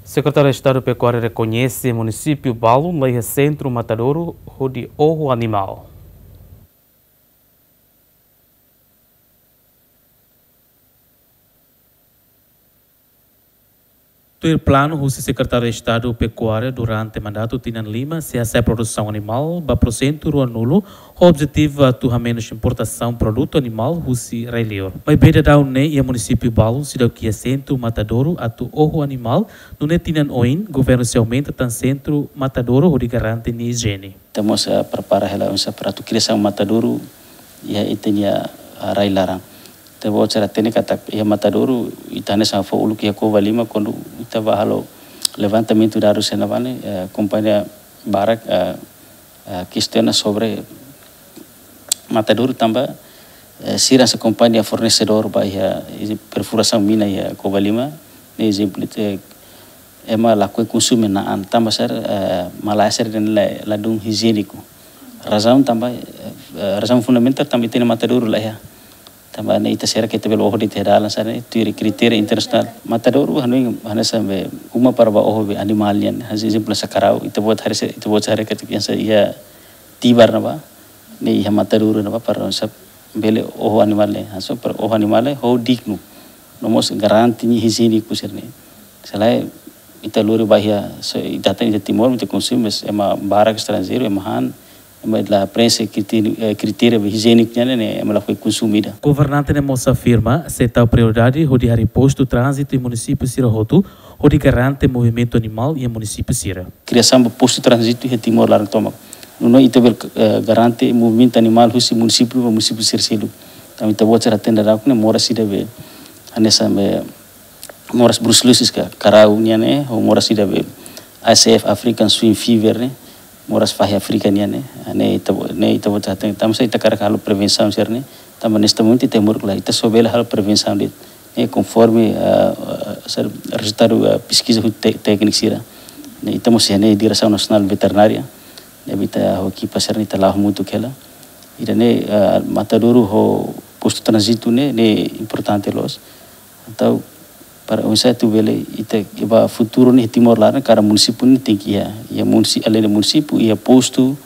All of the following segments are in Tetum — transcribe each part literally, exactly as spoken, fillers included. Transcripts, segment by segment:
Sekretáriu Estadu Pekuária rekoñese munisípiu balu la iha sentru matadouru hodi oho animál. Tuir planu husi Sekretáriu Estadu Pekuária, durante mandatu tinan lima sei hasa'e produsaun animál ba porsentu ruanulu, ho objetivu atu hamenus importasaun produtu animál husi rai-liur. Maibé daudaun ne'e iha munisípiu balu seidauk iha sentru matadouru atu oho animál, nune'e tinan oin governu sei aumenta tan sentru matadouru hodi garante nia ijiene. Ita mós, eh, prepara hela oinsá para atu kriasaun matadouru iha ita-nia, eh, rai-laran. Ita-boot sira hatene katak iha matadouru, ita hanesan fó uluk iha Covalima, kuandu ita bá halo levantamentu dadus iha ne'ebá ne'e, eh, kompañia barak, eh, eh, kestiona sobre matadouru tanba, eh, sira hanesan kompañia fornesedór ba iha, iha perfurasaun mina iha Covalima, ne'e ezemplu, eh, ema lakohi konsume na'an tanba sira, eh, malae sira-ne'e la, ladún ijiéniku. Razaun tanba, eh, eh, razaun fundamentál tanba ita-nia matadouru la iha. Tanba ne'e ita sira ke ita bele oho de'it iha dalan sira-ne'e, tuir kritéria internasionál. Matadouru hanoin hanesan be uma para bá oho be animál nian, hanesan ezemplu hanesan karau, ita-boot haree se, ita-boot haree katak hanesan iha Tibar ne'ebá, ne'e iha matadouru ne'ebá para hanesan bele oho animál ne'e, hanesan para oho animál ne'e ho dignu. No mós garante nia ijiéniku sira-ne'e. Se lae ita lori ba iha, se ita hatene iha Timor, ita konsume, mas ema barak estranjeiru, ema han, ema la preenxe kritéria, eh, kritéria ijiéniku nian ne'e, ema lakohi konsume ida. Governante ne'e mós afirma, sei tau prioridade hodi harii postu tránzitu iha munisípiu sira hotu, hodi garante movimentu animál iha munisípiu sira. Kriasaun ba postu tránzitu iha Timor laran tomak. Nune'e ita bele, eh, garante movimentu animál husi munisípiu ba munisípiu sira seluk. Tanba ita-boot sira hatene daudaun ne'e moras ida be, hanesan be, moras bruselosis ka, karau nian ne'e, ho moras ida be, A S F, African Swine Fever ne'e, moras fahi Áfrika nian ne'e, ne'e ita-bo-, ne'e ita-boot hatene, tanba sá ita hakarak halo prevensaun sira-ne'e, tanba neste momento ita moruk la, ita só bele halo prevensaun de'it, ne'e konforme, ah, ah, sá rezultadu, ah, peskiza husi te-, tékniku sira. Ne'e ita mós iha ne'e Diresaun Nasionál Veterinária, ne'ebé ita ho ekipa sira-ne'e ita la'o hamutuk hela. Ida-ne'e, ah, matadouru ho postu tránzitu ne'e, ne'e importante loos. Entaun, para oinsá atu bele, ita, ba futuru ne'e Timor laran, kada munisípiu ne'e tenke iha, iha munisi-, além de munisípiu, iha postu,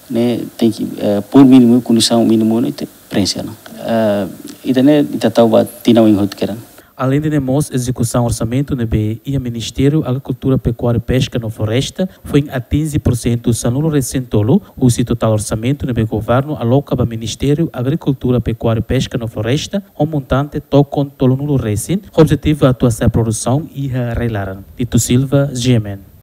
ne'e tenke, eh, por mínimu, kondisaun mínimu ne'e ita preenxe ona. Eh, ida-ne'e ita tau ba tinan oin hotu kedan. Além de ne'e mós ezekusaun orsamentu ne'ebé iha Ministériu Agrikultura, Pekuária, Peska no Floresta, foin atinje porsentu sanulu resin tolu, husi totál orsamentu ne'ebé governu aloka ba Ministériu Agrikultura, Pekuária, Peska no Floresta, ho montante tokon tolunulu resin, ho objetivu atu hasa'e produsaun iha rai-laran. Tito Silva, G M N.